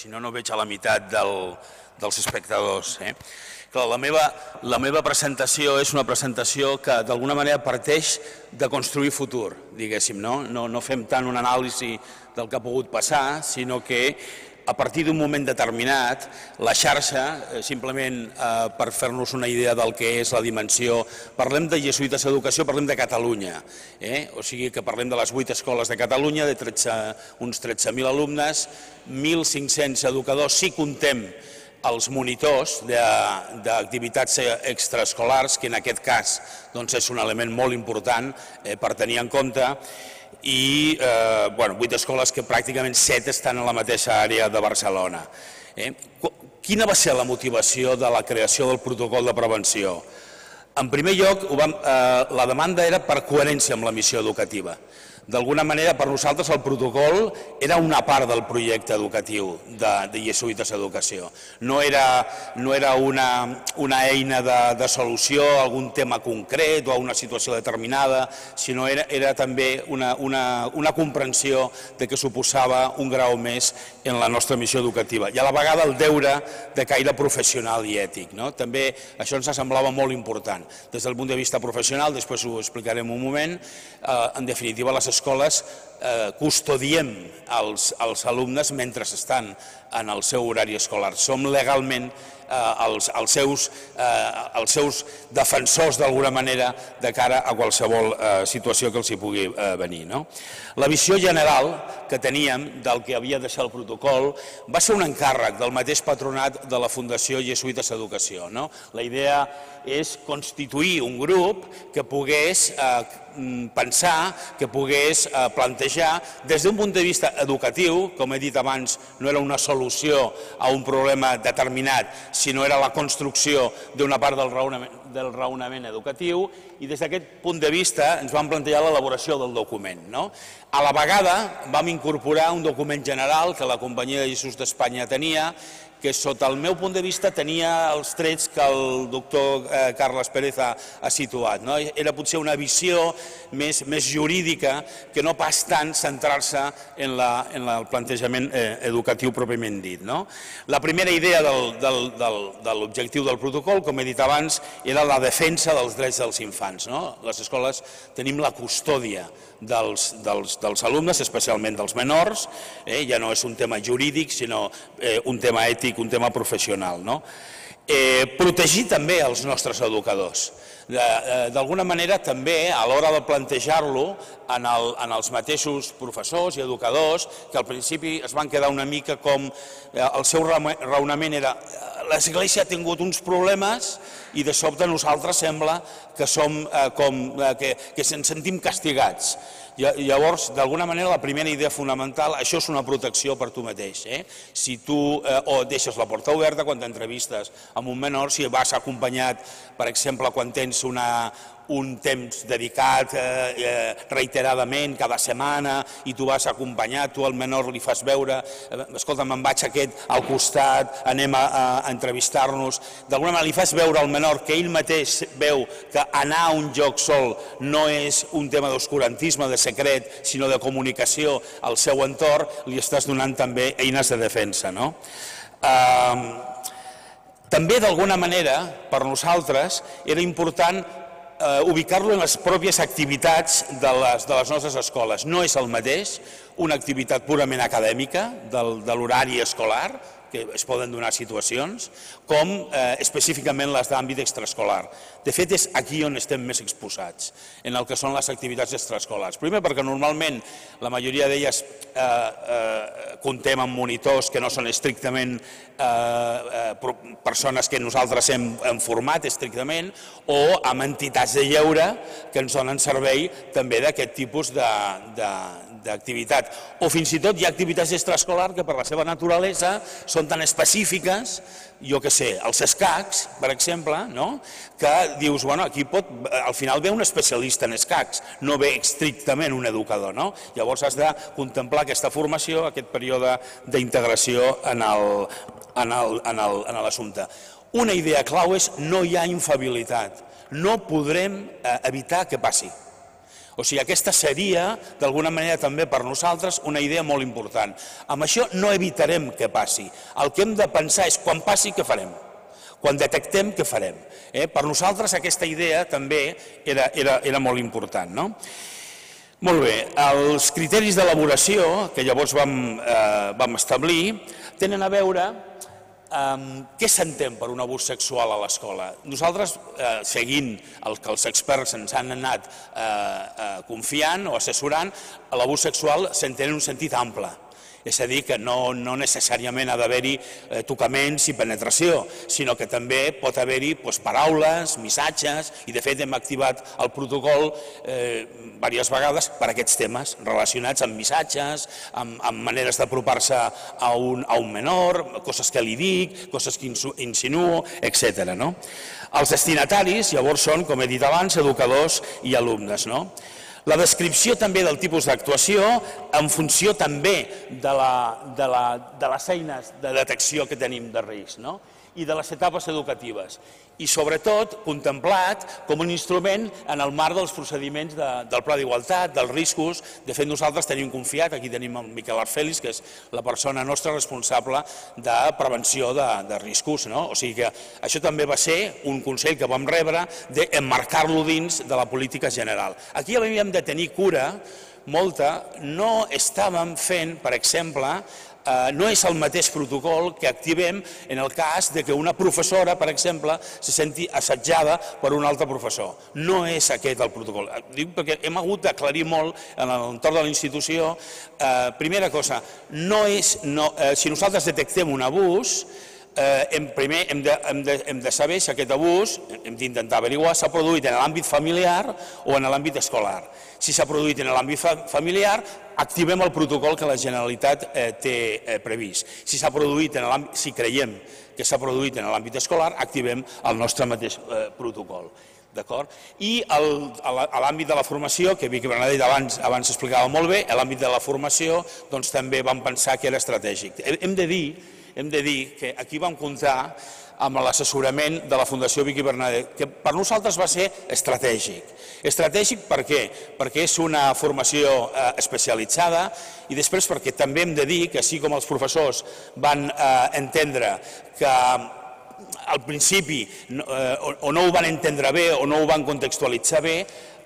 si no, no veig a la meitat dels espectadors. Clar, la meva presentació és una presentació que d'alguna manera parteix de construir futur, diguéssim. No fem tant una anàlisi del que ha pogut passar, sinó que a partir d'un moment determinat, la xarxa, simplement per fer-nos una idea del que és la dimensió, parlem de Jesuïtes Educació, parlem de Catalunya, o sigui que parlem de les 8 escoles de Catalunya, de uns 13.000 alumnes, 1.500 educadors, si contem els monitors d'activitats extraescolars, que en aquest cas és un element molt important per tenir en compte, i 8 escoles que pràcticament 7 estan a la mateixa àrea de Barcelona. Quina va ser la motivació de la creació del protocol de prevenció? En primer lloc, la demanda era per coherència amb la missió educativa. D'alguna manera, per nosaltres, el protocol era una part del projecte educatiu de Jesuïtes Educació. No era una eina de solució a algun tema concret o a una situació determinada, sinó era també una comprensió de que suposava un grau més en la nostra missió educativa. I a la vegada el deure de caire professional i ètic. També això ens semblava molt important. Des del punt de vista professional, després ho explicarem un moment, en definitiva les escoles custodiem els alumnes mentre estan en el seu horari escolar. Som legalment els seus defensors d'alguna manera de cara a qualsevol situació que els hi pugui venir. La visió general que teníem del que havia de ser el protocol va ser un encàrrec del mateix patronat de la Fundació Jesuïtes Educació. La idea és constituir un grup que pogués pensar, que pogués plantejar des d'un punt de vista educatiu, com he dit abans, no era una solució a un problema determinat, sinó era la construcció d'una part del raonament educatiu, i des d'aquest punt de vista ens vam plantejar l'elaboració del document. A la vegada vam incorporar un document general que la Companyia de Jesús d'Espanya tenia, que sota el meu punt de vista tenia els trets que el doctor Carles Pérez ha situat. Era potser una visió més jurídica que no pas tant centrar-se en el plantejament educatiu pròpiament dit. La primera idea de l'objectiu del protocol, com he dit abans, era la defensa dels drets dels infants. Les escoles tenim la custòdia dels alumnes, especialment dels menors, ja no és un tema jurídic, sinó un tema ètic, un tema professional. Protegir també els nostres educadors. D'alguna manera també a l'hora de plantejar-lo en els mateixos professors i educadors, que al principi es van quedar una mica com el seu raonament era l'Església ha tingut uns problemes i de sobte nosaltres sembla que ens sentim castigats. Llavors, d'alguna manera, la primera idea fonamental, això és una protecció per tu mateix. Si tu deixes la porta oberta quan t'entrevistes amb un menor, si vas acompanyat, per exemple, quan tens un temps dedicat reiteradament, cada setmana, i tu vas acompanyat, tu al menor li fas veure, escolta, me'n vaig aquest al costat, anem a entrevistar-nos, d'alguna manera li fas veure al menor que ell mateix veu que anar a un lloc sol no és un tema d'oscurantisme, de secret, sinó de comunicació al seu entorn, li estàs donant també eines de defensa. També, d'alguna manera, per nosaltres, era important ubicar-lo en les pròpies activitats de les nostres escoles. No és el mateix una activitat purament acadèmica de l'horari escolar, que es poden donar situacions, com específicament les d'àmbit extraescolar. De fet, és aquí on estem més exposats, en el que són les activitats extraescolars. Primer, perquè normalment la majoria d'elles contem amb monitors que no són estrictament persones que nosaltres hem format estrictament, o amb entitats de lleure que ens donen servei també d'aquest tipus d'activitat. O fins i tot hi ha activitats extraescolars que per la seva naturalesa són tan específiques, jo què sé, els escacs, per exemple, que dius, bueno, aquí al final ve un especialista en escacs, no ve estrictament un educador. Llavors has de contemplar aquesta formació, aquest període d'integració en l'assumpte. Una idea clau és no hi ha infal·libilitat, no podrem evitar que passi. O sigui, aquesta seria, d'alguna manera també per nosaltres, una idea molt important. Amb això no evitarem que passi. El que hem de pensar és quan passi, què farem? Quan detectem, què farem? Per nosaltres aquesta idea també era molt important. Molt bé, els criteris d'elaboració que llavors vam establir tenen a veure què s'entén per un abús sexual a l'escola. Nosaltres, seguint el que els experts ens han anat confiant o assessorant, l'abús sexual s'entén en un sentit ample. És a dir, que no necessàriament ha d'haver-hi tocaments i penetració, sinó que també pot haver-hi paraules, missatges, i de fet hem activat el protocol diverses vegades per aquests temes relacionats amb missatges, amb maneres d'apropar-se a un menor, coses que li dic, coses que insinuo, etc. Els destinataris llavors són, com he dit abans, educadors i alumnes. La descripció també del tipus d'actuació en funció també de les eines de detecció que tenim de risc i de les etapes educatives. I sobretot contemplat com un instrument en el marc dels procediments del Pla d'Igualtat, dels riscos. De fet, nosaltres tenim confiat, aquí tenim el Miquel Arfelis, que és la persona nostra responsable de prevenció de riscos. O sigui que això també va ser un consell que vam rebre d'emmarcar-lo dins de la política general. Aquí havíem de tenir cura molta, no estàvem fent, per exemple, no és el mateix protocol que activem en el cas que una professora, per exemple, se senti assetjada per un altre professor. No és aquest el protocol. Dic perquè hem hagut d'aclarir molt en l'entorn de la institució. Primera cosa, si nosaltres detectem un abús, primer hem de saber si aquest abús, hem d'intentar averiguar, s'ha produït en l'àmbit familiar o en l'àmbit escolar. Si s'ha produït en l'àmbit familiar, activem el protocol que la Generalitat té previst. Si creiem que s'ha produït en l'àmbit escolar, activem el nostre mateix protocol. I a l'àmbit de la formació, que Vicky Bernadet abans explicava molt bé, a l'àmbit de la formació també vam pensar que era estratègic. Hem de dir que aquí vam comptar amb l'assessorament de la Fundació Vicky Bernadet, que per nosaltres va ser estratègic. Estratègic per què? Perquè és una formació especialitzada i després perquè també hem de dir que així com els professors van entendre que al principi o no ho van entendre bé o no ho van contextualitzar bé,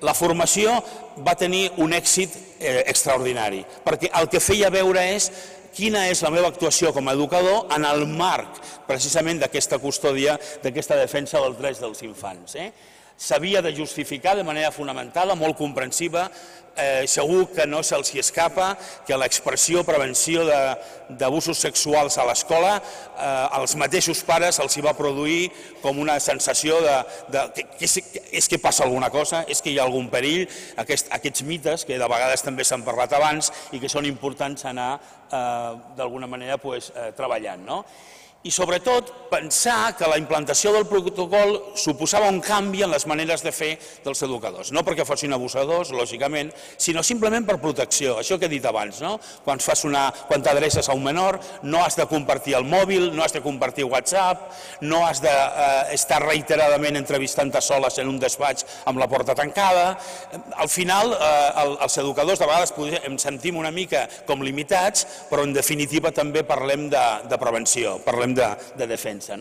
la formació va tenir un èxit extraordinari, perquè el que feia veure és quina és la meva actuació com a educador en el marc precisament d'aquesta custòdia, d'aquesta defensa dels drets dels infants. S'havia de justificar de manera fonamental, molt comprensiva, segur que no se'ls escapa que l'expressió prevenció d'abusos sexuals a l'escola als mateixos pares els va produir com una sensació que és que passa alguna cosa, és que hi ha algun perill, aquests mites que de vegades també s'han parlat abans i que són importants anar d'alguna manera treballant. I sobretot pensar que la implantació del protocol suposava un canvi en les maneres de fer dels educadors. No perquè fossin abusadors, lògicament, sinó simplement per protecció. Això que he dit abans, quan t'adreces a un menor, no has de compartir el mòbil, no has de compartir WhatsApp, no has d'estar reiteradament entrevistant-te soles en un despatx amb la porta tancada. Al final, els educadors de vegades ens sentim una mica com limitats, però en definitiva també parlem de prevenció, parlem de defensa.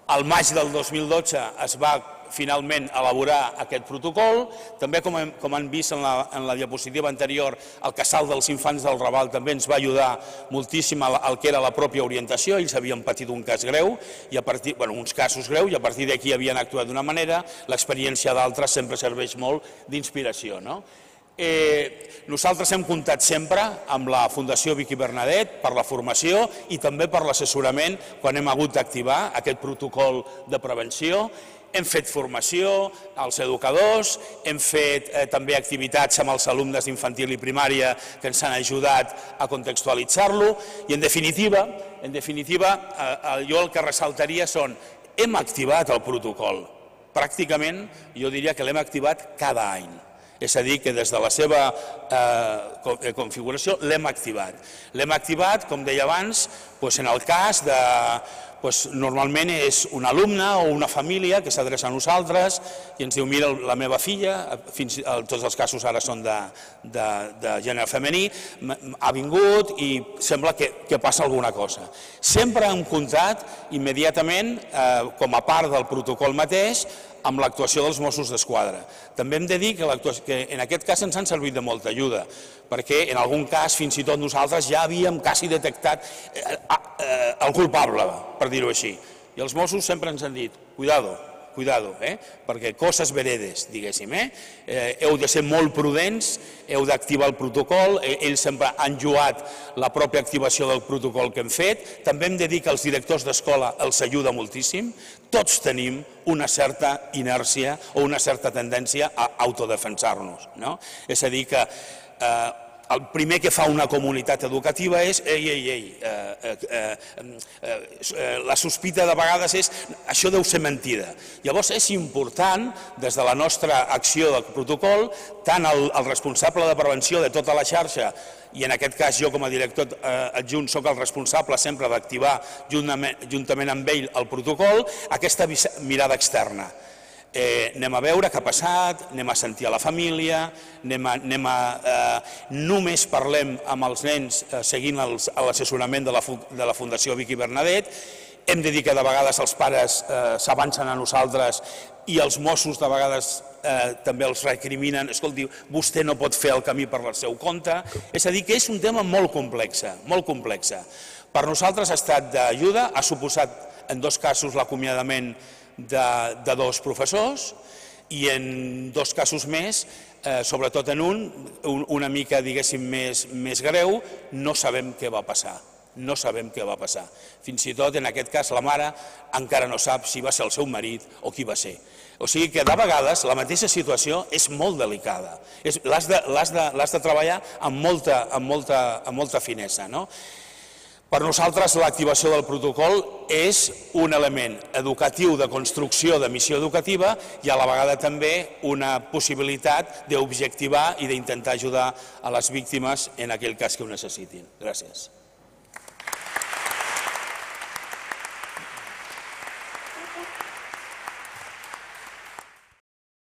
Al maig del 2012 es va finalment elaborar aquest protocol. També, com han vist en la diapositiva anterior, el Casal dels Infants del Raval també ens va ajudar moltíssim al que era la pròpia orientació. Ells havien patit un cas greu, uns casos greus, i a partir d'aquí havien actuat d'una manera. L'experiència d'altres sempre serveix molt d'inspiració. Nosaltres hem comptat sempre amb la Fundació Vicky Bernadet per la formació i també per l'assessorament quan hem hagut d'activar aquest protocol de prevenció. Hem fet formació als educadors, hem fet també activitats amb els alumnes d'infantil i primària que ens han ajudat a contextualitzar-lo i, en definitiva, jo el que ressaltaria són hem activat el protocol. Pràcticament jo diria que l'hem activat cada any. És a dir, que des de la seva configuració l'hem activat. L'hem activat, com deia abans, en el cas normalment és un alumne o una família que s'adreça a nosaltres i ens diu, mira, la meva filla, tots els casos ara són de gènere femení, ha vingut i sembla que passa alguna cosa. Sempre hem comptat immediatament, com a part del protocol mateix, amb l'actuació dels Mossos d'Esquadra. També hem de dir que en aquest cas ens han servit de molta ajuda, perquè en algun cas fins i tot nosaltres ja havíem quasi detectat el culpable, per dir-ho així. I els Mossos sempre ens han dit, cuidado, perquè coses veredes, diguéssim, heu de ser molt prudents, heu d'activar el protocol, ells sempre han lloat la pròpia activació del protocol que hem fet, també hem de dir que els directors d'escola els ajuda moltíssim, tots tenim una certa inèrcia o una certa tendència a autodefensar-nos. És a dir, que el primer que fa una comunitat educativa és la sospita de vegades és això deu ser mentida. Llavors és important, des de la nostra acció del protocol, tant el responsable de prevenció de tota la xarxa, i en aquest cas jo com a director adjunt soc el responsable sempre d'activar juntament amb ell el protocol, aquesta mirada externa. Anem a veure què ha passat, anem a sentir a la família, només parlem amb els nens seguint l'assessorament de la Fundació Vicky Bernadet. Hem de dir que de vegades els pares s'avancen a nosaltres i els Mossos de vegades també els recriminen, escolti, vostè no pot fer el camí per el seu compte. És a dir, que és un tema molt complex, molt complex. Per nosaltres ha estat d'ajuda, ha suposat en 2 casos l'acomiadament de 2 professors i en 2 casos més, sobretot en una mica, diguéssim, més greu, no sabem què va passar. No sabem què va passar. Fins i tot, en aquest cas, la mare encara no sap si va ser el seu marit o qui va ser. O sigui que, de vegades, la mateixa situació és molt delicada. L'has de treballar amb molta finesa. Per nosaltres, l'activació del protocol és un element educatiu de construcció de missió educativa i a la vegada també una possibilitat d'objectivar i d'intentar ajudar a les víctimes en aquell cas que ho necessitin. Gràcies.